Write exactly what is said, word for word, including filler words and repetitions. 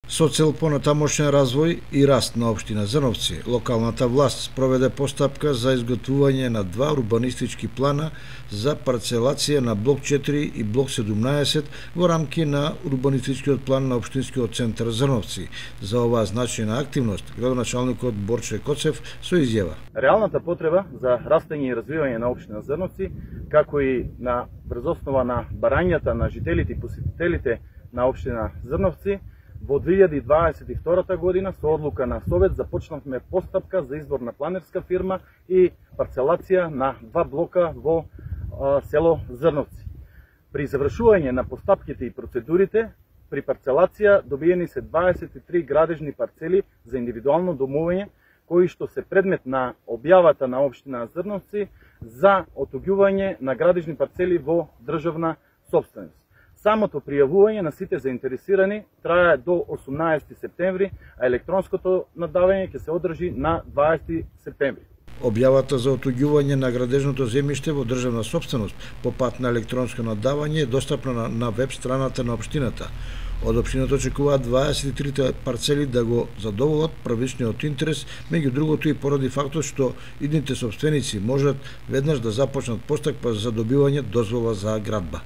Со цел понатамошен развој и раст на општина Зрновци, локалната власт спроведе постапка за изготвување на два урбанистички плана за парцелација на блок четири и блок седумнаесет во рамки на урбанистичкиот план на општинскиот центар Зрновци. За оваа значајна активност, градоначалникот Борче Коцев со изјава. Реалната потреба за растење и развивање на општина Зрновци, како и на врзоснова на барањата на жителите и посетителите на општина Зрновци, во две илјади дваесет и втора година со одлука на Совет започнавме постапка за избор на планерска фирма и парцелација на два блока во а, село Зрновци. При завршување на постапките и процедурите, при парцелација добиени се дваесет и три градежни парцели за индивидуално домување, кои што се предмет на објавата на општина Зрновци за отуѓување на градежни парцели во државна сопственост. Самото пријавување на сите заинтересирани трае до осумнаесети септември, а електронското надавање ќе се одржи на дваесети септември. Објавата за отуѓување на градежното земјиште во државна сопственост по пат на електронско надавање е достапна на, на веб страната на општината. Од општината очекуваат дваесет и трите парцели да го задоволат првичниот интерес, меѓу другото и поради фактот што идните сопственици можат веднаш да започнат постапка за добивање дозвола за градба.